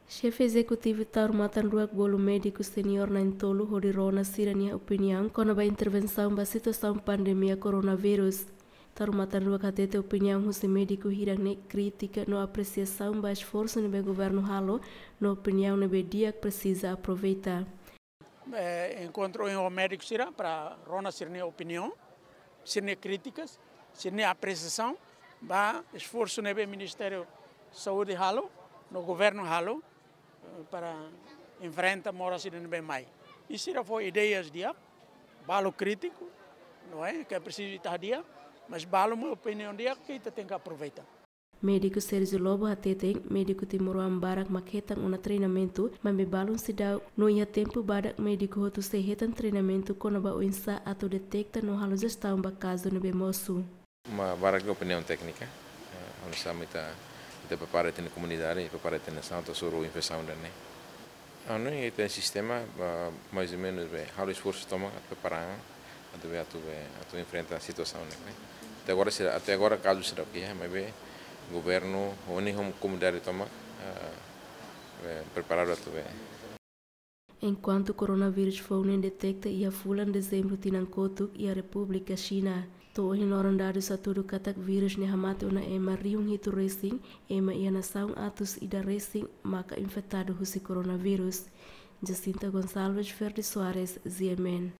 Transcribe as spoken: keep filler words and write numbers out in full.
Xefe Ezekutivu Taur Matan Ruak bolu médiku seniór na'in-tolu hodi rona sira-nia opiniaun kona-ba intervensaun ba situasaun pandemia koronavírus. Taur Matan Ruak hatete opiniaun husi médiku hirak ne'e krítika no apresiasaun ba esforsu ne'ebé governu halo, no opiniaun ne'ebé di'ak presiza aproveita. Eh, enkontru ho médiku sira para rona sira-nia opiniaun, sira-nia krítikas, sira-nia apresiasaun ba esforsu ne'ebé Ministériu Saúde halo, no governu halo, eh, para enfrenta moras ida ne'ebé mai. I sira fó ideias di'ak, balu krítiku, não é? Ke presiza ita hadi'a, mas balu mós opiniaun di'ak ke ita tenke aproveita. Médiku Sérgio Lobo hateten, médiku timoroan barak mak hetan ona treinamentu, maibé balun seidauk, no iha tempu badak médiku hotu sei hetan treinamentu kona-ba oinsá atu deteta no halo jestaun ba kazu ne'ebé mosu. Mak barak opiniaun téknika, eh, oinsá mak ita, ita prepara ita-nia komunidade, prepara ita-nia nasaun atu hasoru infesaun ida-ne'e. Anu, ita-nia sistema, ba, mais ou menus, be, halo esforsu tomak atu prepara, atu be, atu be, atu enfrenta situasaun ne'e, ne'e. Até agora, se, até agora kazu seidauk iha, maibé governu, ho nia komunidade tomak, ah, be, preparadu atu be. Enkuantu koronavírus foun ne'e deteta iha fulan Dezembru tinan kotuk iha Repúblika Xina. To'o ohin loron dadus hatudu katak vírus ne'e hamate ona ema rihun hitu resin, ema iha nasaun atus ida resin maka infetadu husi koronavírus. Jacinta Gonçalves, Ferdi Soares, G M N.